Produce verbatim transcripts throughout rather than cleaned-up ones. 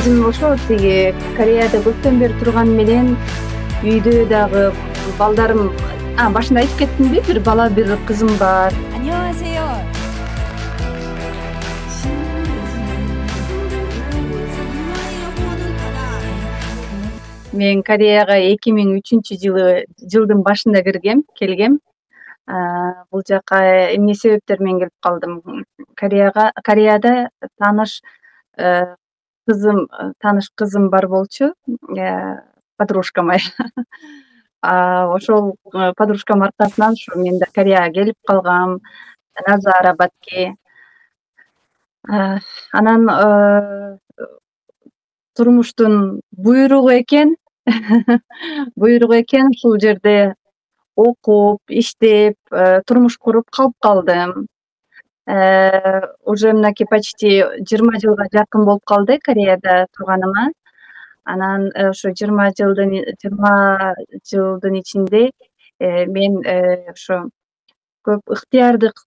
өзүм ошо тиги Кореяда көптөн бери турган менен үйдө дагы балдарым башында айтып кеттимби, бир бала, бир кызым бар. 안녕하세요. Мен Кореяга эки миң үчүнчү жылы жылдын башында киргем, келгем. Бул жака эмне себептер менен келип калдым? Кореяга Кореяда тааныш кызым, тааныш кызым бар болчу, подружка моя. Ошол подружкам аркасынан ушу мен да Кореяга келип калгам, на заработки. Анан турмуштун буйругу экен. Буйругу экен ушул жерде окуп, иштеп, турмуш куруп калып калдым. Уже мынакей почти жыйырма жылга жакын болуп калды Кореяда турганыма. Анан ошо жыйырма жылдын жыйырма жылдын ичинде мен ошо көп ыктыярдык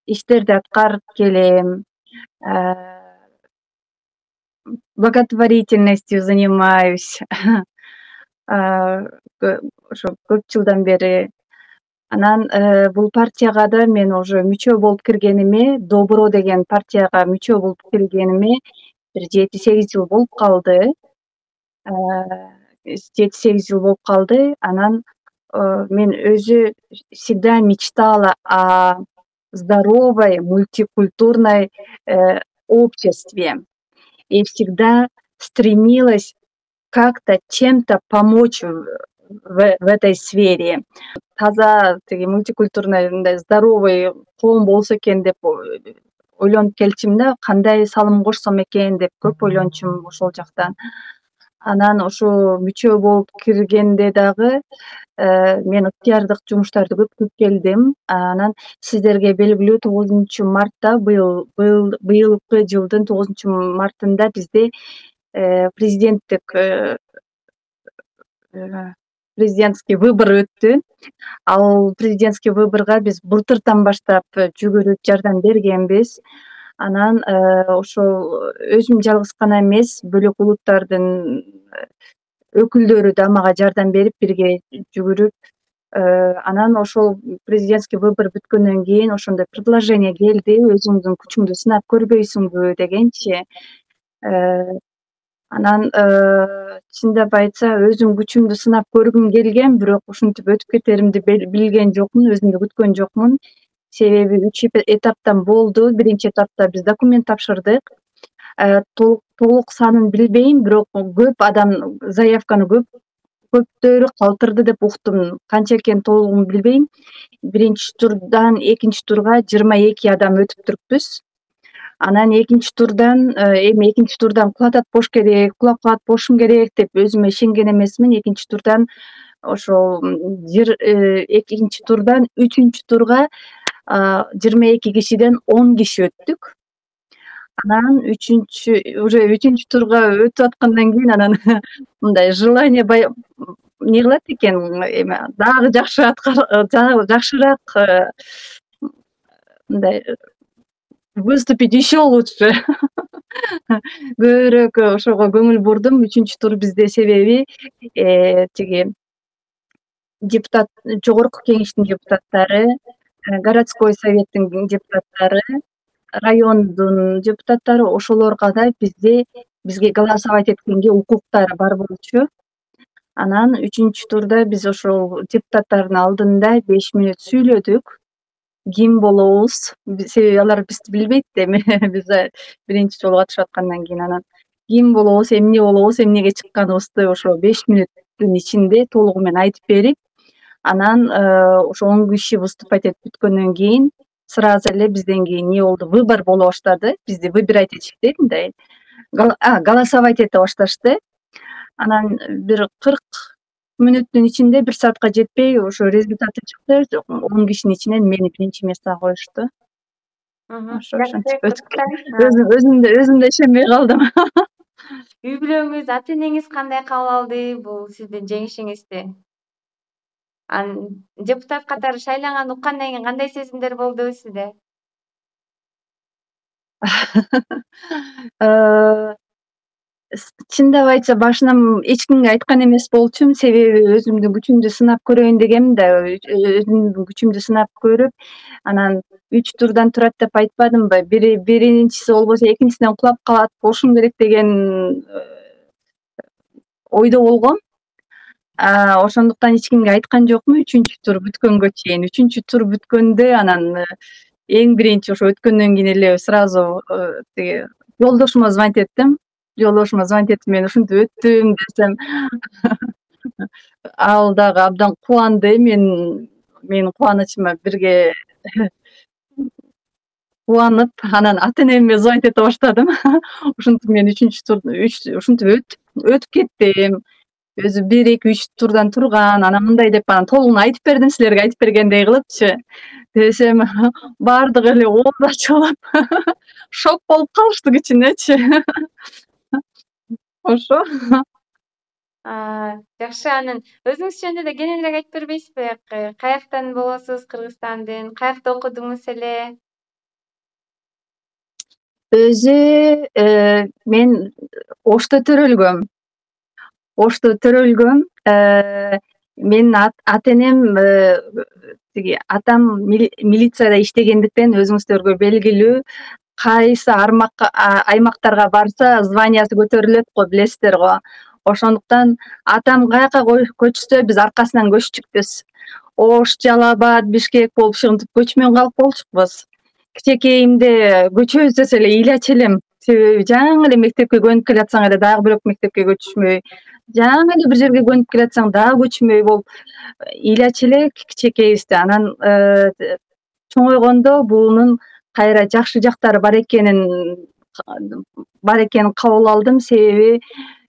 иштерди аткарып келем. Благотворительностью занимаюсь. Ошо көп жылдан бери. Анан бул партияга да мен уже мүчө болуп киргениме, Добро деген партияга мүчө болуп киргениме бир жети сегиз жыл болуп калды. жети сегиз жыл болуп калды. Анан мен өзү всегда мечтала о здоровой мультикультурной обществе и всегда стремилась как-то чем-то помочь в этой сфере. Таза тиги мультикультурный мындай здоровый коом болсо экен деп ойлонуп келчүмүн да, кандай салым кошсом экен деп көп ойлончумун ошол жактан. Анан ошо мүчө болуп киргенде дагы мен ыктыярдык жумуштарды көп кылып келдим. Анан сиздерге белгилүү тогузунчу мартта быйыл быйылкы жылдын тогузунчу мартында бизде президенттик президентский выбор өттү. Ал президентский выборго биз былтыртан баштап жүгүрүп жардам бергенбиз. Анан ошол өзүм жалгыз гана эмес, бөлөк улуттардын өкүлдөрү да мага жардам берип, бирге жүгүрүп, анан ошол президентский выбор бүткөндөн кийин ошондой предложение келди, өзүңдүн күчүңдү сынап көрбөйсүңбү дегенчи. Анан чындап айтса, өзүм күчүмдү сынап көргүм келген, бирок ушинтип өтүп кетеримди билген жокмун, өзүм да күткөн жокмун. Себеби үч этаптан болду. Биринчи этапта биз документ тапшырдык. Толук санын билбейм, бирок көп адам заявканы көп көптөрү калтырды деп уктум. Канча экенин толугун билбейм. Биринчи турдан экинчи турга жыйырма эки адам өтүп туруппуз. Анан экинчи турдан эми экинчи турдан кулап атпош керек, кулап атпошум керек деп өзүмө ишенген эмесмин. Экинчи турдан ошол экинчи турдан үчүнчү турга жыйырма эки кишиден он киши өттүк. Анан үчүнчү уже үчүнчү турга өтүп аткандан кийин анан мындай желание эмне кылат экен, эми дагы жакшы дагы жакшыраак мындай выступить еще лучше. Көбүрөөк ошого көңүл бурдум. Үчүнчү тур бизде себеби тиги депутат, жогорку кеңештин депутаттары, городской советтин депутаттары, райондун депутаттары, ошолорго да бизде бизге голосовать эткенге укуктары бар болчу. Анан үчүнчү турда биз ошол депутаттардын алдында беш мүнөт сүйлөдүк. Ким болобуз? Себеби алар бизди билбейт эми, биз биринчи жолу катышып аткандан кийин. Анан ким болобуз, эмне болобуз, эмнеге чыкканыбызды ошо беш мүнөттүн ичинде толугу менен айтып берип, анан ошо он киши выступать этип бүткөндөн кийин сразу эле бизден кийин эмне болду? Выбор боло баштады. Бизди выбирать этишти, мындай голосовать эте башташты. Анан бир кырк мүнөттүн ичинде, бир саатка жетпей ошо результаты чыкты. он кишинин ичинен мени биринчи местого коюшту. Ошо ошентип өтүп өзүм да өзүм да ишенбей калдым. Үй бүлөңүз, ата энеңиз кандай кабыл алды бул сиздин жеңишиңизди? Анан депутат катары шайланганды уккандан кийин кандай сезимдер болду сизде? Чындап айтса башынан эч кимге айткан эмес болчумун, себеби өзүмдүн күчүмдү сынап көрөйүн дегемин да, өзүмдүн күчүмдү сынап көрүп, анан үч турдан турат деп айтпадымбы? Бири биринчиси болбосо экинчисинен кулап калат болушум керек деген ойдо болгом. Ошондуктан эч кимге айткан жокмун үчүнчү тур бүткөнгө чейин. Үчүнчү тур бүткөндө анан эң биринчи ошо өткөндөн кийин эле сразу тиги жолдошума звонить эттим. Жолдошума звонить этип мен ушинтип өттүм десем, ал дагы абдан кубанды. Мен менин кубанычыма бирге кубанып, анан ата энеме звонить эте баштадым. Ушинтип мен үчүнчү тур ушинтип өтүп өтүп кеттим. Өзү бир, эки, үч турдан турган, анан мындай деп анан толугун айтып бердим, силерге айтып бергендей кылыпчы. Десем баардыгы эле ооз ачылып, шок болуп калышты кичинечи. Ошо. Жакшы, анан өзүңүз жөнүндө да кененирээк айтып бербейсизби? Каяктан болосуз, Кыргызстандын? Каякта окудуңуз эле? Өзү мен Ошто төрөлгөм. Ошто төрөлгөм. Менин ата энем тиги атам милицияда иштегендиктен өзүңүздөргө белгилүү, кайсы аймактарга барса званиясы көтөрүлөт го, билесиздер го. Ошондуктан атам каяка көчсө биз аркасынан көчтүкпүз. Ош, Жалал Абад, Бишкек болуп ушинтип көчмөн калып болчукпуз. Кичинекейимде көчөбүз десе эле ыйлачу элем. Себеби жаңы эле мектепке көнүп келатсаң эле дагы бирок мектепке көчүшмөй, жаңы эле бир жерге көнүп келатсаң дагы көчмөй болуп ыйлачу эле кичинекейибизде. Анан чоңойгондо бунун кайра жакшы жактары бар экенин бар экенин кабыл алдым. Себеби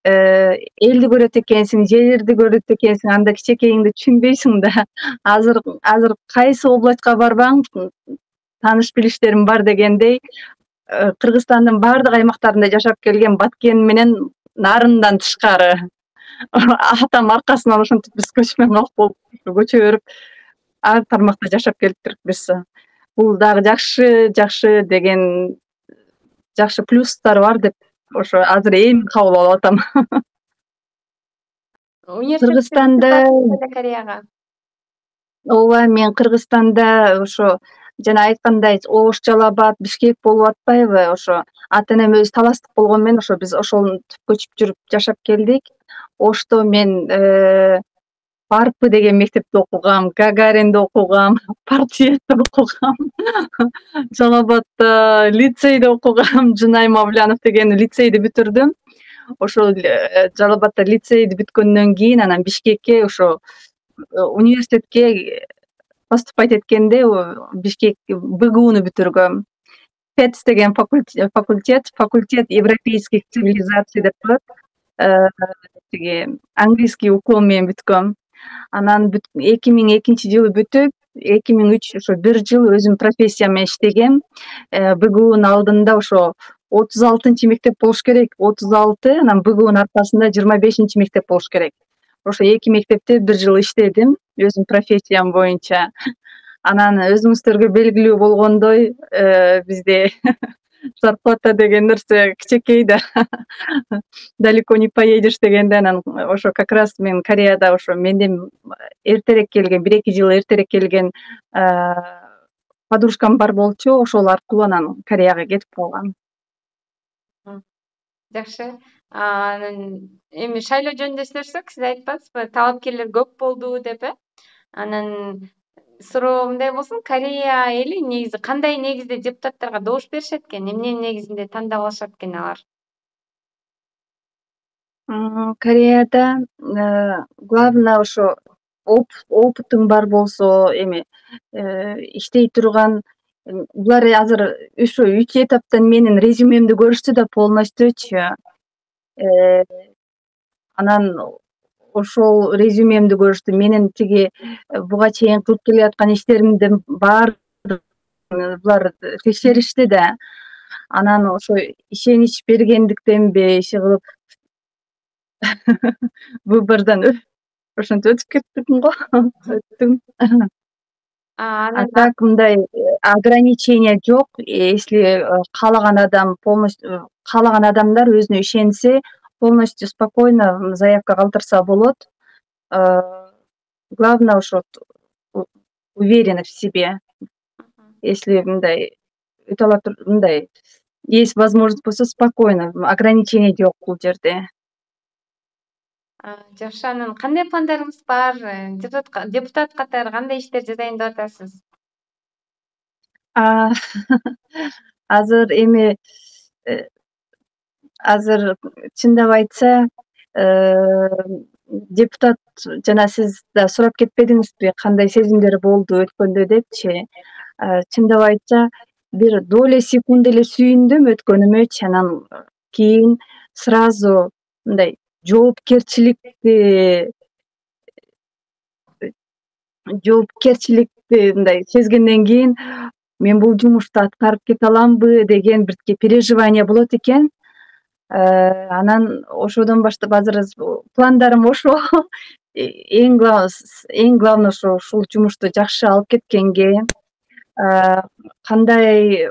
элди көрөт экенсиң, жерди көрөт экенсиң, анда кичинекейиңди түшүнбөйсүң да. Азыр азыр кайсы областка барбаң, тааныш билиштерим бар дегендей, Кыргызстандын баардык аймактарында жашап келген Баткен менен нарындан тышкары. Атам аркасынан ошентип биз көчмөн калып болуп, көчө берип ар тармакта жашап келиптирбиз. Бул дагы жакшы, жакшы деген жакшы плюстары бар деп ошо азыр эми кабыл алып атам. Кыргызстанда Кореяга. Ооба, мен Кыргызстанда ошо жана айткандай Ош, Жалал Абад, Бишкек болуп атпайбы? Ошо ата энем өзү таластык болгон менен ошо биз ошентип көчүп жүрүп жашап келдик. Ошто мен Парпы деген мектепте окугам, Гагаринде окугам, Партиетте окугам. Жалал Абадда лицейде окугам, Жунай Мавлянов деген лицейди бүтүрдүм. Ошол Жалал Абадда лицейди бүткөндөн кийин анан Бишкекке ошо университетке поступать эткенде Бишкек БГУну бүтүргөм. ПЭЦ деген факультет, факультет европейских цивилизаций деп коет. Тиги английский уклон менен бүткөм. Анан эки миң экинчи жылы бүтүп, эки миң үч ошо бир жыл өзүм профессиям менен иштегем. БГУнун алдында ошо отуз алтынчы мектеп болуш керек, отуз алты, анан БГУнун аркасында жыйырма бешинчи мектеп болуш керек. Ошо эки мектепте бир жыл иштедим өзүм профессиям боюнча. Анан өзүңүздөргө белгилүү болгондой, бизде зарплата деген нерсе кичинекей да. Далеко не поедешь дегенде, анан ошо как раз мен Кореяда ошо менден эртерээк келген, бир эки жыл эртерээк келген подружкам бар болчу, ошол аркылуу анан Кореяга кетип калгам. Жакшы. Анан эми шайлоо жөнүндө сүйлөшсөк, сиз айтпадыңызбы, талапкерлер көп болду деп, э? Анан суроо мындай болсун, Корея эли негизи кандай негизде депутаттарга добуш беришет экен? Эмненин негизинде тандап алышат экен алар? Кореяда главное ошо опытың бар болсо, эми иштей турган, булар азыр ошо үч этаптан менин резюмемди көрүштү да полностьючу. Анан ошол резюмемди көрүштү. Менин тиги буга чейин кылып келаткан иштеримдин баары булар текшеришти да. Анан ошо ишенич бергендиктенби иши кылып выбордон ошентип өтүп кеттим го. Өттүм. А так мындай ограничение жок. Если каалаган адам полностью каалаган адамдар өзүнө ишенсе, полностью спокойно заявка калтырса болот. Главное ошо уверенность в себе. Если мындай өтө ала мындай есть возможность болсо спокойно, ограничение жок бул жерде. Жакшы, анан кандай пландарыңыз бар? Депутат депутат катары кандай иштер жасайын деп атасыз? Азыр эми азыр чындап айтса, депутат жана сиз да сурап кетпедиңизби, кандай сезимдер болду өткөндө депчи. Чындап айтса, бир доля секунд эле сүйүндүм өткөнүмөчү, анан кийин сразу мындай жоопкерчиликти жоопкерчиликти мындай сезгенден кийин мен бул жумушту аткарып кете аламбы деген бир переживание болот экен. Анан ошодон баштап азыр пландарым ошо. Эң эң главный ошо ушул жумушту жакшы алып кеткенге, кандай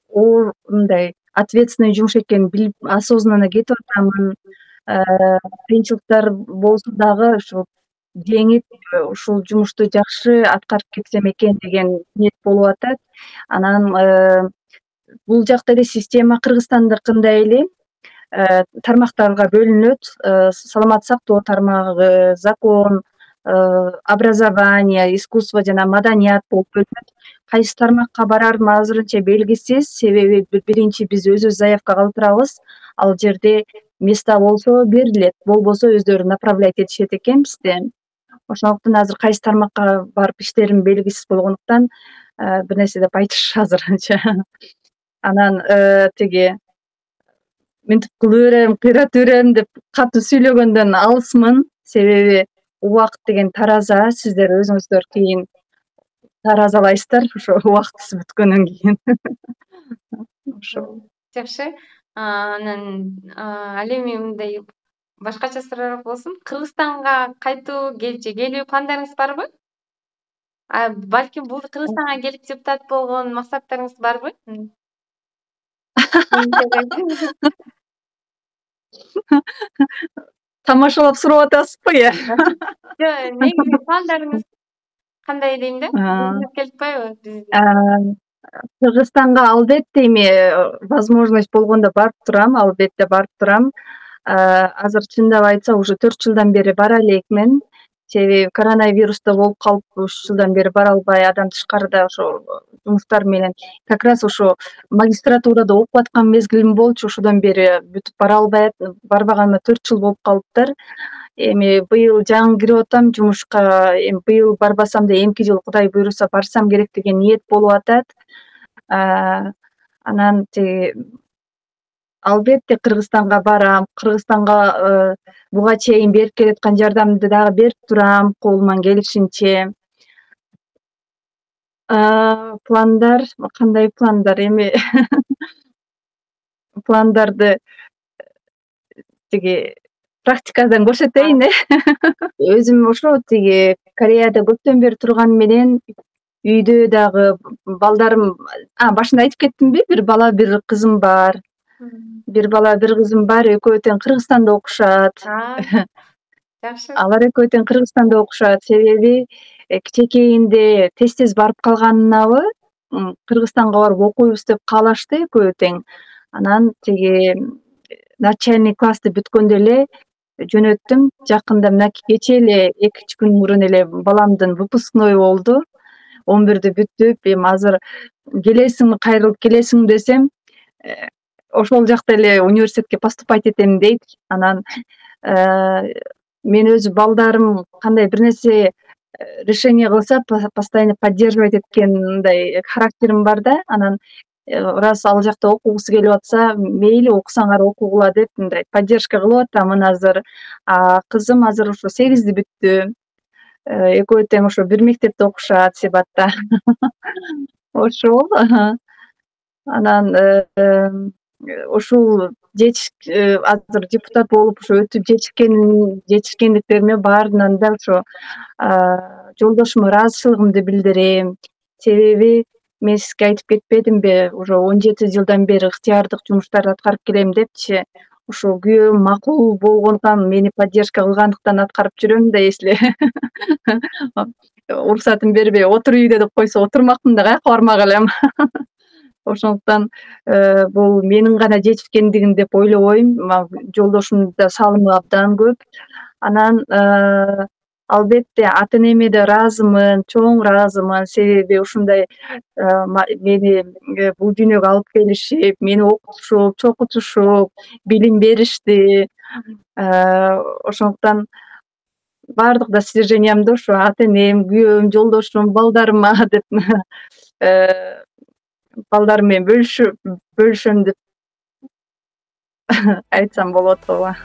оор мындай ответственный жумуш экенин билип, осознанно кетип атамын. Кыйынчылыктар болсо дагы ушу жеңип, ушул жумушту жакшы аткарып кетсем экен деген ниет болуп атат. Анан бул жакта эле система Кыргызстандыкындай эле тармактарга бөлүнөт. Саламаттык сактоо тармагы, закон, образование, искусство жана маданият болуп бөлүнөт. Кайсы тармакка барарым азырынча белгисиз, себеби биринчи биз өзүбүз заявка калтырабыз, ал жерде места болсо берилет, болбосо өздөрү направлять этишет экен бизди. Ошондуктан азыр кайсы тармакка барып иштерим белгисиз болгондуктан бир нерсе деп айтыш азырынча. Анан тиги мынтип кыла берем, кыйрата берем деп катуу сүйлөгөндөн алысмын, себеби убакыт деген тараза, сиздер өзүңүздөр кийин таразалайсыздар ошо убактысы бүткөндөн кийин. Ошо. Жакшы. Анан ал эми мындай башкача суроо болсун. Кыргызстанга кайтуу же келүү пландарыңыз барбы? Балким бул Кыргызстанга келип депутат болгон максаттарыңыз барбы? Тамашалап сурап атасызбы э? Жок, негизи пландарыңыз кандай дейм да? Өзүңүз келип атпайбы? Кыргызстанга албетте эми возможность болгондо барып турам, албетте барып турам. Азыр чындап айтса, уже төрт жылдан бери бара элекмин. Себеби коронавирусда болуп калып, үч жылдан бери бара албай, абдан тышкарыда ошо жумуштар менен как раз ошо магистратурада окуп аткан мезгилим болчу, ошодон бери бүтүп бара албай, барбаганыма төрт жыл болуп калыптыр. Эми быйыл жаңы кирип атам жумушка, эми быйыл барбасам да эмки жыл Кудай буйруса барсам керек деген ниет болуп атат. Анан тиги албетте Кыргызстанга барам, Кыргызстанга буга чейин берип келаткан жардамды дагы берип турам колуман келишинче. Пландар, кандай пландар эми пландарды тиги практикадан көрсөтөйүн э. Өзүм ошо тиги Кореяда көптөн бери турган менен үйдө дагы балдарым, башында айтып кеттимби, бир бала, бир кызым бар. Бир бала, бир кызым бар, экөө тең Кыргызстанда окушат. Жакшы. Алар экөө тең Кыргызстанда окушат, себеби кичекейинде тез-тез барып калганынабы, Кыргызстанга барып окуйбуз деп каалашты экөө тең. Анан тиги начальный классты бүткөндө эле жөнөттүм. Жакында мына кечээ эле эки үч күн мурун эле баламдын выпускной болду. он бирди бүтүп, эми азыр келесиңби, кайрылып келесиңби десем, ошол жакта эле университетке поступать этем дейт. Анан мен өзү балдарым кандай бир нерсе решение кылса, постоянно поддерживать эткен мындай характерим бар да. Анан раз ал жакта окугусу келип атса, мейли окусаңар окугула деп мындай поддержка кылып атамын азыр. Кызым азыр ошо сегизди бүттү. Экөө тең ошо бир мектепте окушат Себатта. Ошол. Анан ушул азыр депутат болуп ошо өтүп жетишкен жетишкендиктериме баарынан да ошо жолдошума ыраазычылыгымды билдирем. Себеби мен сизге айтып кетпедимби, уже он жети жылдан бери ыктыярдык жумуштарды аткарып келем депчи. ушу күйөөм макул болгондуктан, мени поддержка кылгандыктан аткарып жүрөм да, если уруксатын бербей отур үйдө деп койсо отурмакмын да, каяка бармак элем. Ошондуктан бул менин гана жетишкендигим деп ойлобойм. Жолдошумдун да салымы абдан көп. Анан албетте ата энеме да ыраазымын, чоң ыраазымын. Себеби ушундай мени бул дүйнөгө алып келишип, мени окутушуп, чокутушуп, билим беришти. Ошондуктан бардык достижениямды ошо ата энем, күйөөм, жолдошум, балдарыма деп балдарым менен бөлүшүп бөлүшөм деп айтсам болот ооба.